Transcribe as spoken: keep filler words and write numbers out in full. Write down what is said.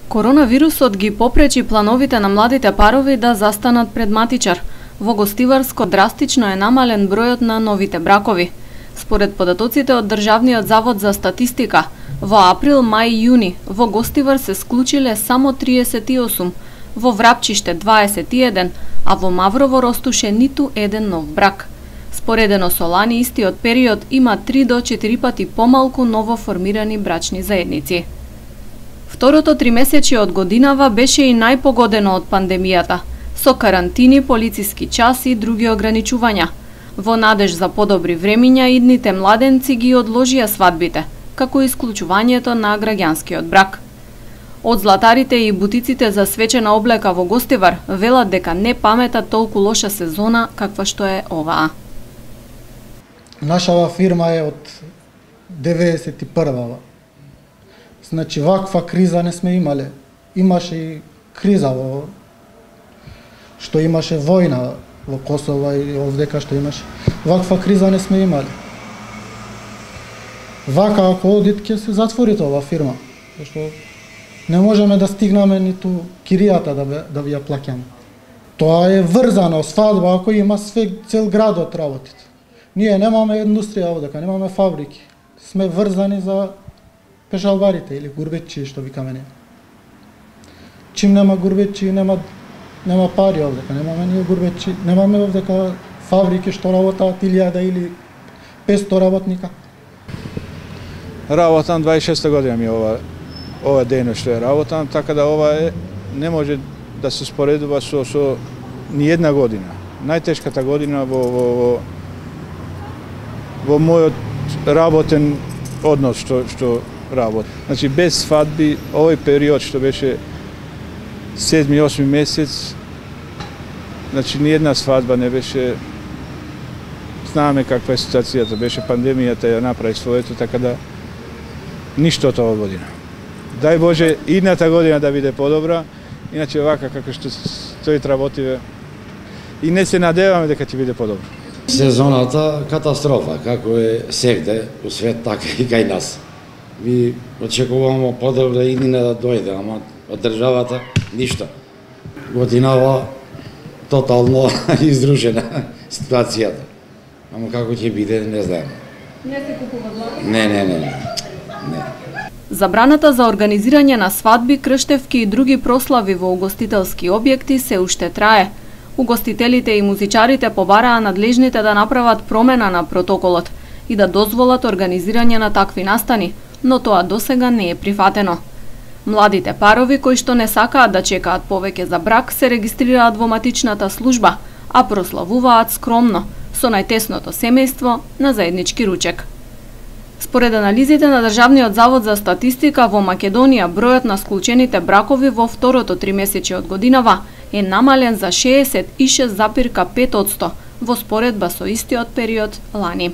Коронавирусот ги попречи плановите на младите парови да застанат пред матичар. Во Гостиварско драстично е намален бројот на новите бракови. Според податоците од Државниот завод за статистика, во април, мај и јуни во Гостивар се склучиле само триесет и осум, во Врапчиште дваесет и еден, а во Маврово ростуше ниту еден нов брак. Споредено со лани истиот период има три до четири пати помалку новоформирани брачни заедници. Второто тримесечје од годинава беше и најпогодено од пандемијата, со карантини, полициски час и други ограничувања. Во надеж за подобри времиња, идните младенци ги одложија свадбите, како и исклучувањето на граѓанскиот брак. Од златарите и бутиците за свечена облека во Гостивар велат дека не паметат толку лоша сезона каква што е оваа. Нашава фирма е од деветдесет и прва. Значи, ваква криза не сме имале. Имаше и криза во што имаше војна во Косово и овдека што имаше. Ваква криза не сме имале. Вака ако одит ќе се затвори ова фирма, зашто не можеме да стигнеме ниту киријата да бе, да ви ја плаќаме. Тоа е врзано, свадба ако има све цел градот работите. Ние немаме индустрија овдека, немаме фабрики. Сме врзани за пешалбарите или гурбетчи, што викаме не. Чим нема гурбетчи, нема нема пари овдека, немаме ние гурбетчи, немаме овдека фабрики што работат илјада или петстотини работника. Работам дваесет и шеста година ми ова ова дејност што ја работам, така да ова е не може да се споредува со со ни една година. Најтешката година во во во, во мојот работен однос што што работ. Значи без свадби овој период што беше седми осми месец, значи ни една свадба не беше. Знаеме каква е ситуацијата, беше пандемијата ја направи своето, така да ништо од оваа година. Дај Боже идната година да биде подобра, иначе вака како што стои работиве и не се надеваме дека ќе биде подобро. Сезоната катастрофа, како е сегде у свет, така и кај нас. Ви очекуваме подобра иднина да дојде, ама од државата ништо. Годинава тотално изрушена ситуацијата. Ама како ќе биде, не знаеме. Не се купува злато? Не, не, не, не. не. Забраната за организирање на свадби, крштевки и други прослави во угостителски објекти се уште трае. Угостителите и музичарите побараа надлежните да направат промена на протоколот и да дозволат организирање на такви настани, но тоа досега не е прифатено. Младите парови кои што не сакаат да чекаат повеќе за брак се регистрираат во матичната служба, а прославуваат скромно, со најтесното семејство на заеднички ручек. Според анализите на Државниот завод за статистика, во Македонија бројот на склучените бракови во второто тримесечје од годинава е намален за шеесет и шест запирка пет одсто во споредба со истиот период лани.